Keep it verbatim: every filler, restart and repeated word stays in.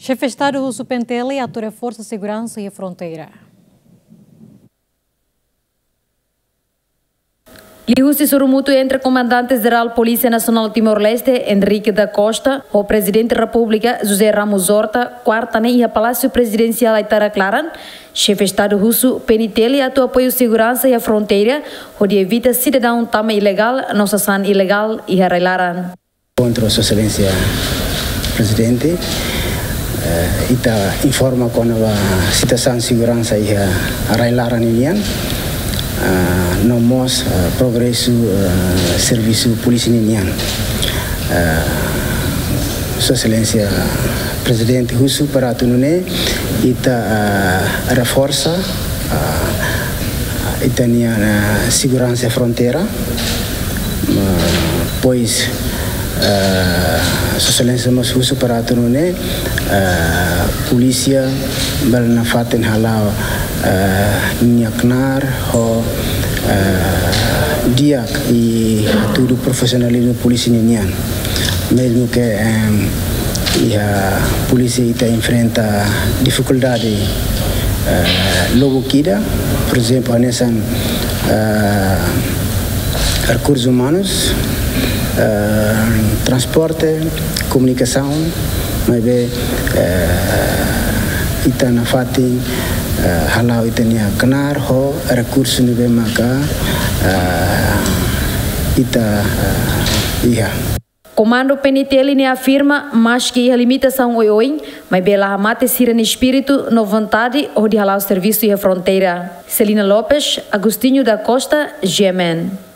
Xefe Estadu husu P N T L atu reforsa seguransa iha fronteira. Liuhusi sorumutu entre Komandante Jerál Polísia Nasionál Timor-Leste, Henrique da Costa, ho Prezidente Repúblika, José Ramos Horta, kuarta ne'e iha Palásiu Prezidensiál Aitarak laran, Xefe Estadu husu P N T L atu apoiu seguransa iha fronteira, hodi evita sidadaun tama ilegál no sasán ilegál iha rai-laran. Enkontru Sua Exelénsia Prezidente, eh, ita informa kona-ba situasaun seguransa iha rai-laran ninian, ah, no mós, ah, progresu, ah, servisu polísia ninian. Ah, Sua Exelénsia Prezidente husu para atu nune'e ita, ah, reforsa, ah, ita-nia, ah, seguransa fronteira. Ah, pois, ah, Sua Exelénsia mós husu para atu nune'e, ah, polísia bele nafatin hala'o, ah, nia knaar ho, ah, di'ak i hatudu profisionalizmu polísia ninian. Mezmu ke, em, iha polísia ita enfrenta difikuldade, eh, lubuk ida, por ezemplu, hanesan, eh, rekursus umanus, eh, transporte, komunikasaun, maibé, eh, ita nafatin, eh, hala'o ita-nia knaar ho rekursu ne'ebé maka, eh, ita, eh, iha. Komandu P N T L ne'e afirma, maski iha limitasaun oioin, maibé la hamate sira-nia espíritu no vontade hodi hala'o servisu iha fronteira. Celina Lopes, Agostinho da Costa, G M N.